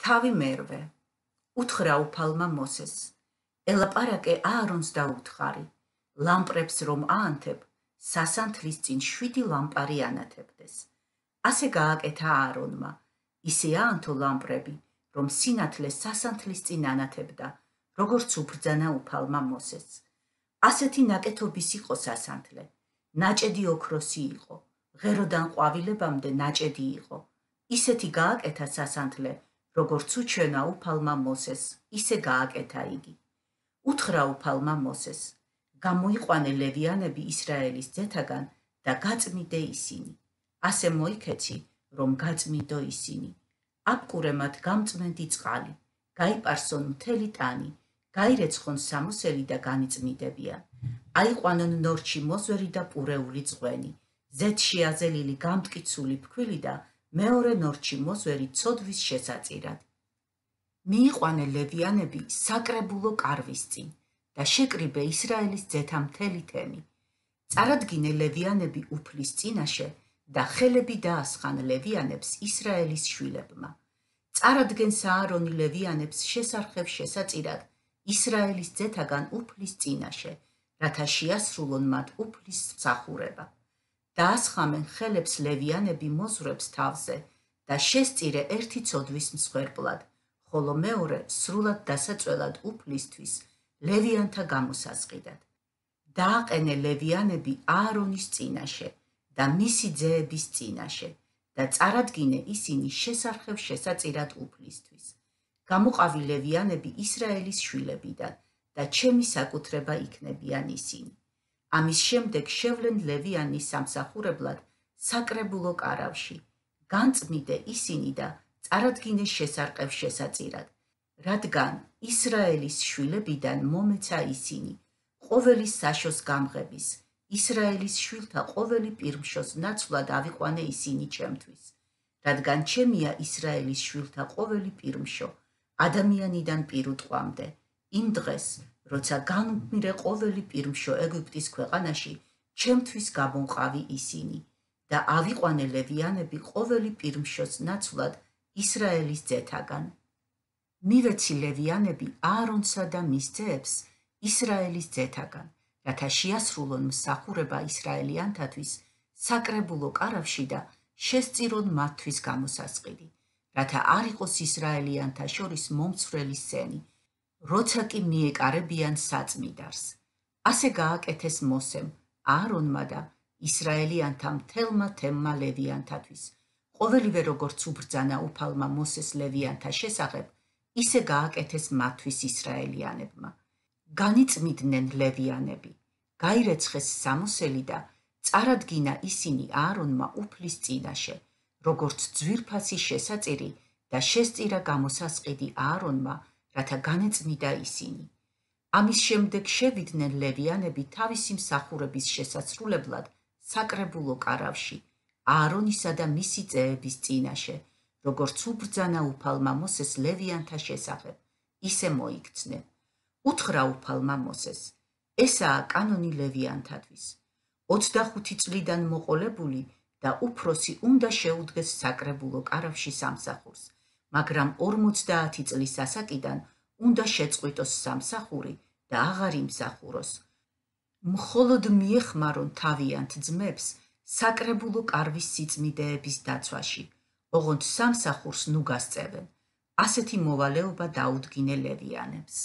თავი მერვე, უთხრა უფალმა მოსეს, ელაპარაკე აარონს და უთხარი, ლამპრებს რომ აანთებ, სასანთლის წინ 7 ლამპარი ანათებდეს. ასე გააკეთა აარონმა, ისე აანთო ლამპრები, რომ სინათლე სასანთლის წინ ანათებდა, როგორც უბრძანა უფალმა მოსეს. ასეთი ნაკეთობის იყო სასანთლე, ნაჭედი ოქროსი იყო, ღეროდან ყვავილებამდე ნაჭედი იყო. ისეთი გააკეთა სასანთლე, როგორც უჩვენა უფალმა მოსეს, ისე გააკეთა იგი. უთხრა უფალმა მოსეს, გამოიყვანე ლევიანები ისრაელის ძეთაგან და გაწმიდე ისინი. ასე მოიქეცი, რომ გაწმიდო ისინი. აბკურე მათ გამწმენდი წყალი, გაიპარსონ მთელი ტანი, გაირეცხონ სამოსელი და განიწმინდებიან. აიყვანონ ნორჩი მოზვერი და პურეული წვენი, ზეთში აზელილი გამტკიცული ფქვილი და მეორე ნორჩი მოზვერი ცოდვის შესაწირად. მიიყვანე ლევიანები საკრებულო კარვის წინ და შეკრიბე ისრაელის ძეთა მთელი თემი. წარადგინე ლევიანები უფლის წინაშე და ხელები დაასხან ლევიანებს ისრაელის შვილებმა. წარადგენს აარონი ლევიანებს შესარხევ შესაწირად ისრაელის ძეთაგან უფლის წინაშე, რათა შეასრულონ მათ უფლის მსახურება. დაასხამენ ხელებს ლევიანები მოზვრებს თავზე და შესწირე ერთი ცოდვის მსხვერპლად, ხოლო მეორე სრულად დასაწველად უფლისთვის ლევიანთა გამოსასყიდად. დააყენე ლევიანები აარონის წინაშე და მისი ძეების წინაშე და წარადგინე ისინი შესარხევ შესაწირად უფლისთვის. გამოყავი ლევიანები ისრაელის შვილებიდან და ჩემი საკუთრება იქნებიან ისინი. ამის შემდეგ შევლენ ლევიანის სამსახურებლად საკრებულო კარავში. განწმიდე ისინი და წარადგინე შესარყევ შესაწირად, რადგან ისრაელის შვილებიდან მომეცა ისინი, ყოველი საშოს გამღების, ისრაელის შვილთა ყოველი პირმშოს ნაცვლად ავიყვანე ისინი ჩემთვის, რადგან ჩემია ისრაელის შვილთა ყოველი პირმშო, ადამიანიდან პირუტყვამდე, იმ დღეს, როცა განუგმირე ყოველი პირმშო ეგვიპტის ქვეყანაში, ჩემთვის გამონყავი ისინი და ავიყვანე ლევიანები ყოველი პირმშოს ნაცვლად ისრაელის ძეთაგან. მივეცი ლევიანები აარონსა და მის ძეებს ისრაელის ძეთაგან, რათა შეასრულონ მსახურება ისრაელიანთათვის საკრებულო კარავში და შესწირონ მათთვის გამოსასყიდი, რათა არ იყოს ისრაელიანთა შორის მომცვრელი სენი, როცა კი მიეკარებიან საწმიდარს. ასე გააკეთეს მოსემ, აარონმა და ისრაელიანთა მთელმა თემმა ლევიანთათვის. ყოველივე როგორც უბრძანა უფალმა მოსეს ლევიანთა შესახებ, ისე გააკეთეს მათთვის ისრაელიანებმა. განიწმინდნენ ლევიანები, გაირეცხეს სამოსელი და წარადგინა ისინი აარონმა უფლის წინაშე, როგორც ძვირფასი შესაწირი და შესწირა გამოსასყიდი აარონმა, რათა განეწმიდა ისინი. ამის შემდეგ შევიდნენ ლევიანები თავისი მსახურების შესასრულებლად საკრებულო კარავში, აარონისა და მისი ძეების წინაშე, როგორც უბრძანა უფალმა მოსეს ლევიანთა შესახებ, ისე მოიქცნენ. უთხრა უფალმა მოსეს, ესაა კანონი ლევიანთათვის. 25 წლიდან მოყოლებული და უფროსი უნდა შეუდგეს საკრებულო კარავში სამსახურს, მაგრამ 50 წლის ასაკიდან უნდა შეწყვიტოს სამსახური და აღარ იმსახუროს. მხოლოდ მიეხმარონ თავიანთ ძმებს საკრებულო კარვის სიწმიდეების დაცვაში, ოღონდ სამსახურს ნუ გასწევენ. ასეთი მოვალეობა დაუდგინე ლევიანებს.